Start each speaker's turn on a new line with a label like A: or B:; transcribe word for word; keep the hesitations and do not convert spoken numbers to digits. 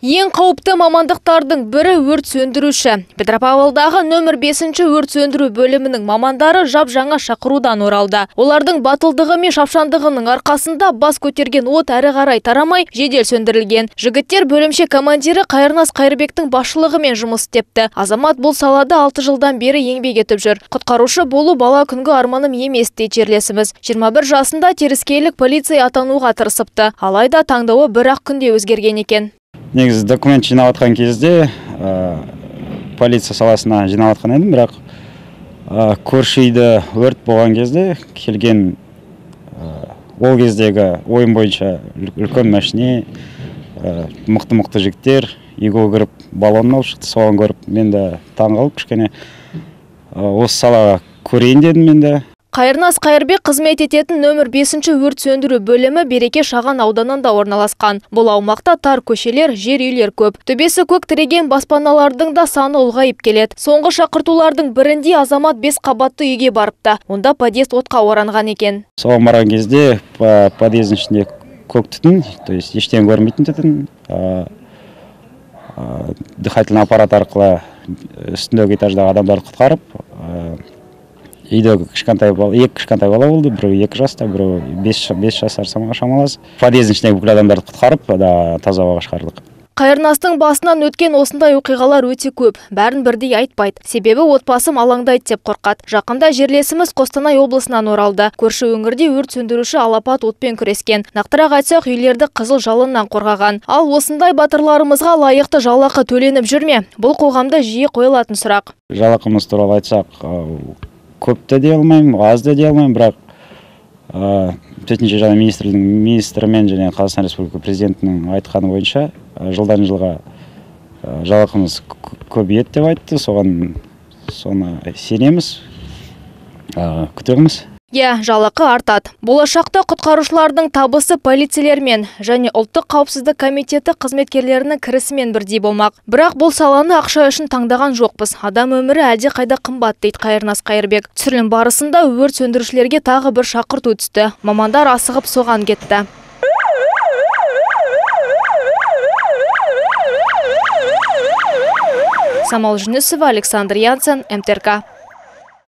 A: Ең қауіпті мамандықтардың бірі өрт сөндіруші. Петропавлдағы нөмір бесінші өрт сөндіру бөлімінің мамандары жап жаңа шақырудан оралды. Олардың батылдығы мен шапшандығының арқасында бас көтерген от әрі қарай тарамай жедел сөндірілген. Жігіттер бөлімше командирі Қайырнас Қайырбектің басшылығымен жұмыс істепті. Азамат бұл салада алты жылдан бері еңбек етіп жүр. Құтқарушы болу бала күнгі арманым емес дейді жерлесіміз. жиырма бір жасында теріскейлік полиция атануға тырысыпты. Алайда таңдауы бір-ақ күнде өзгерген екен.
B: Негізі документ жинап атқан кезде ә, полиция саласына жинап атқан едім, бірақ ә, көрші үйде өрт болған кезде келген ә, ол кездегі ойын бойынша үлкен машине, мықты-мықты жігіттер үйге кіріп баллон алып шықты. Соған көріп мен де таң қалып кішкене осы салаға көрейін дедім мен де.
A: Қайырнас Қайырбек қызмет ететін нөмір бесінші өрт сөндіру бөлімі Береке шағын ауданында орналасқан. Бұл аумақта тар көшелер, жер үйлер көп. Төбесі көк тіреген баспаналардың да саны ұлғайып келеді. Соңғы шақыртулардың бірінде азамат бес қабатты үйге барыпты. Онда подъезд отқа оранған екен.
B: Соған барған кезде подъездің ішінде көк түтін, то есть ештеңе көрмейтін түтін. Дыхательный аппарат арқылы үстіндегі этаждағы адамдарды құтқарып, үйдегі кішкентай бала, екі кішкентай бала болды, біреу екі жаста, біреу бес жасар шамалас. Подъездің ішіндегі бүкіл адамдарды құтқарып, таза ауаға шығардық.
A: Қайырнастың басынан өткен осындай оқиғалар өте көп. Бәрін бірдей айтпайды. Себебі отбасым алаңдайды деп қорқады. Жақында жерлесіміз Қостанай облысынан оралды. Көрші өңірде өрт сөндіруші алапат отпен күрескен. Нақтырақ айтсақ, үйлерді қызыл жалыннан қорғаған. Ал осындай батырларымызға лайықты жалақы төленіп жүр ме? Бұл қоғамда жиі қойылатын сұрақ.
B: Жалақымыз туралы айтсақ, көп те дей алмаймын, аз да дей алмаймын, бірақ төтенше жағдай министрімен және Қазақстан Республикасы президентінің айтқаны бойынша жылдан жылға жалақымыз көбейеді деп айтты. Соған соны сенеміз, күтеміз.
A: Иә, жалақы артады. Болашақта құтқарушылардың табысы полицейлермен және ұлттық қауіпсіздік комитеті қызметкерлерінің кірісімен бірдей болмақ. Бірақ бұл саланы ақша үшін таңдаған жоқпыз. Адам өмірі әлде қайда қымбат дейді Қайырнас Қайырбек. Түсірілім барысында өрт сөндірушілерге тағы бір шақырту түсті. Мамандар асығып соған кетті. Самал Жүнісова, Александр Янсен, эм тэ эр ка.